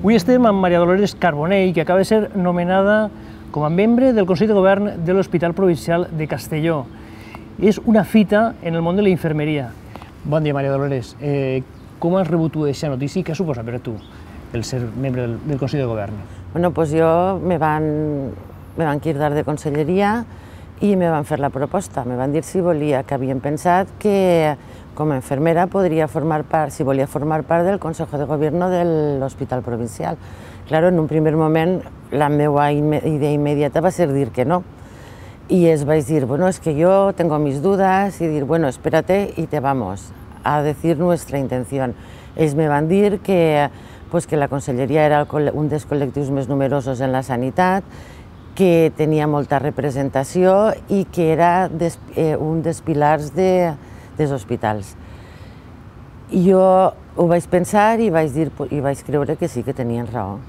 Avui estem amb Maria Dolores Carbonell, que acaba de ser nomenada com a membre del Consell de Govern de l'Hospital Provincial de Castelló. És una fita en el món de la infermeria. Bon dia, Maria Dolores. Com has rebut tu aquesta notícia i què suposa per a tu el ser membre del Consell de Govern? Bueno, pues jo me van cridar de conselleria i me van fer la proposta. Me van dir si volia, que havien pensat que com a infermera podria formar part, si volia formar part del Consejo de Gobierno de l'Hospital Provincial. Claro, en un primer moment la meva idea immediata va ser dir que no. Y vaig dir, bueno, es que yo tengo mis dudas, y dir, bueno, espérate y te vamos a decir nuestra intención. Ells me van dir que la conselleria era un dels col·lectius més numerosos en la sanitat, que tenia molta representació i que era un dels pilars dels hospitals. Jo ho vaig pensar i vaig creure que sí, que tenien raó.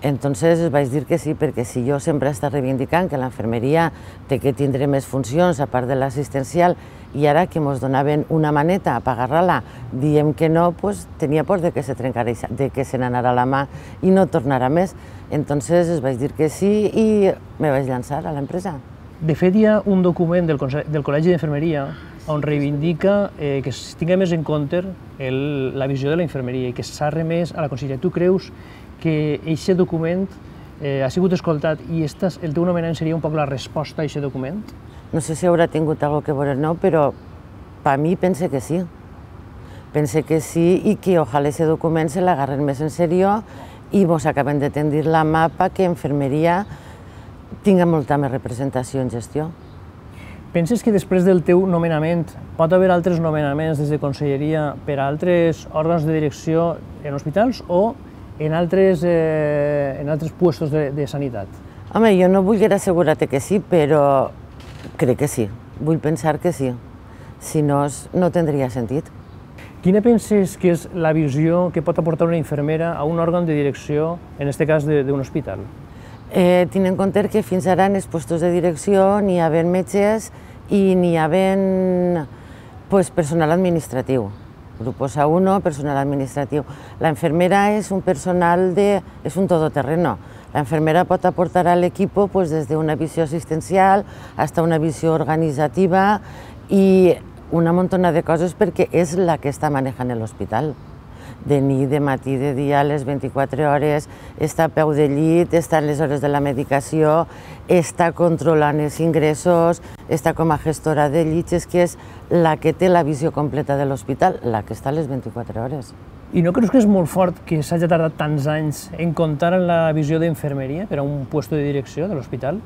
Entonces vaig dir que sí, perquè si jo sempre he estat reivindicant que l'infermeria té que tindre més funcions a part de l'assistencial i ara que ens donaven una maneta per agarrar-la, diem que no, doncs tenia por de que se trencara, de que se n'anara la mà i no tornarà més. Entonces vaig dir que sí i me vaig llançar a l'empresa. De fet, hi ha un document del Col·legi d'Infermeria on reivindica que es tingui més en compte la visió de la infermeria i que s'ha remès a la conselleria. Tu creus que aquest document ha sigut escoltat i el teu nomenament seria un poc la resposta a aquest document? No sé si haurà tingut alguna cosa a veure o no, però per mi pense que sí. Pense que sí i que ojalà aquest document se l'agarren més en sèrio i ens acabem de tendir la mà perquè infermeria tingui molta més representació en gestió. Penses que després del teu nomenament pot haver altres nomenaments des de conselleria per a altres òrgans de direcció en hospitals o en altres puestos de sanitat? Home, jo no vull assegurar-te que sí, però crec que sí. Vull pensar que sí. Si no, no tindria sentit. Quina penses que és la visió que pot aportar una infermera a un òrgan de direcció, en aquest cas d'un hospital? Tenint en compte que fins ara en els puestos de direcció n'hi havia metges i n'hi havia personal administratiu. Grupos A1, personal administratiu. La infermera és un personal és un todoterreno. La infermera pot aportar a l'equip des d'una visió assistencial fins a una visió organitzativa i una muntona de coses perquè és la que està manejant l'hospital. De nit, de matí, de dia, a les 24 hores, està a peu de llit, està en les hores de la medicació, està controlant els ingressos, està com a gestora de llits, és que és la que té la visió completa de l'hospital, la que està a les 24 hores. I no creus que és molt fort que s'hagi tardat tants anys en comptar amb la visió d'infermeria per a un lloc de direcció de l'hospital?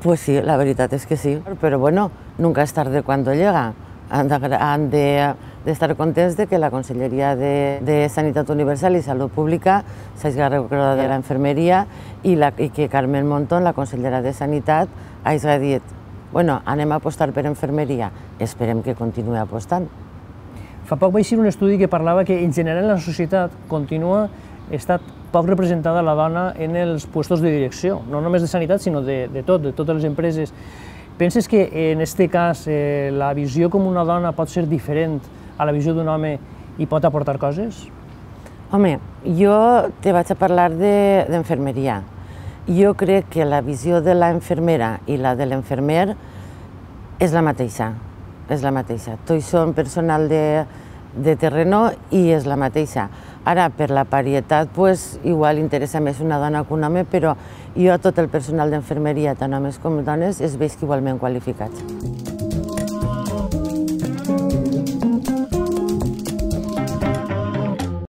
Pues sí, la veritat és que sí, però bueno, nunca es tarde cuando llega. Han d'estar contents que la Conselleria de Sanitat Universal i Salut Pública s'hagi recordat de la infermeria i que Carmen Montón, la consellera de Sanitat, hagi dit bueno, anem a apostar per infermeria, esperem que continuï apostant. Fa poc vaig llegir un estudi que parlava que en general la societat continua estant poc representada la dona en els llocs de direcció, no només de sanitat, sinó de totes les empreses. Penses que en aquest cas la visió com una dona pot ser diferent a la visió d'un home i pot aportar coses? Home, jo te vaig a parlar d'infermeria. Jo crec que la visió de la infermera i la de l'infermer és la mateixa. És la mateixa. Tots són personal de terreno i és la mateixa. Ara, per la parietat, igual interessa més una dona que un home, però jo a tot el personal d'infermeria, tant homes com dones, els veig igualment qualificats.